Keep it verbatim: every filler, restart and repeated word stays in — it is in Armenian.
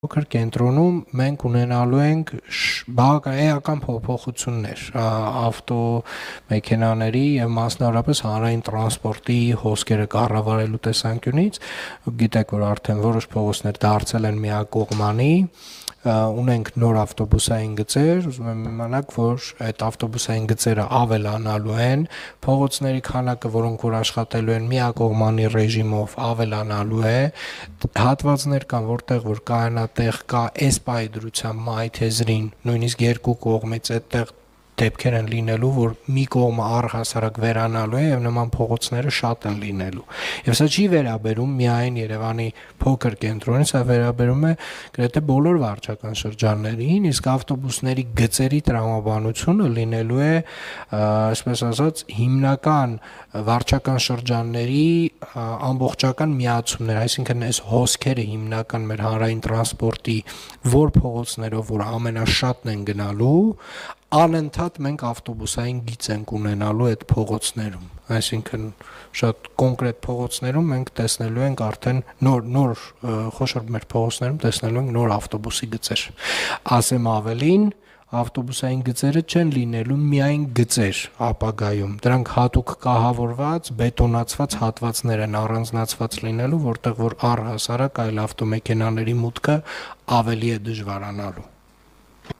Փոքր կենտրոնում մենք ունենալու ենք բավական փոփոխություններ ավտոմեքենաների եւ մասնավորապես հանրային տրանսպորտի հոսքերը կառավարելու տեսանկյունից։ Գիտեք, որ արդեն որոշ փողոցներ դարձել են միակողմանի, ունենք նոր ավտոբուսային գծեր, ուզում եմ իմանալ, որ այդ ավտոբուսային գծերը ավելանալու են, փողոցների քանակը, որոնք որ աշխատելու են միակողմանի ռեժիմով, ավելանալու է, հատվածներ կան, որտեղ որ կայանատեղ կա այս պայդրության մայթեզրին, նույնիսկ երկու կողմից այդտեղ դեպքեր են լինելու, որ մի կողմը առհասարակ վերանալու է եւ նման փողոցները շատ են լինելու։ Եվ սա չի վերաբերում միայն Երևանի փոքր կենտրոնին, սա վերաբերում է գրեթե բոլոր վարչական շրջաններին, իսկ ավտոբուսների գծերի տրամաբանությունը լինելու է, այսպես ասած, հիմնական վարչական շրջանների ամբողջական միացումներ, այսինքն այս հոսքերը հիմնական մեր հանրային տրանսպորտի որ փողոցներով որ ամենաշատն են գնալու, անընդհատ մենք ավտոբուսային գիծ ենք ունենալու այդ փողոցներում, այսինքն շատ կոնկրետ փողոցներում մենք տեսնելու ենք արդեն նոր նոր խոշոր մեր փողոցներում տեսնելու ենք նոր ավտոբուսի գծեր։ Ասեմ ավելին, ավտոբուսային գծերը չեն լինելու միայն գծեր ապագայում, դրանք հատուկ կահավորված, բետոնացված հատվածներ են առանձնացված լինելու, որտեղ որ առհասարակ այլ ավտոմեքենաների մուտքը ավելի է դժվարանալու։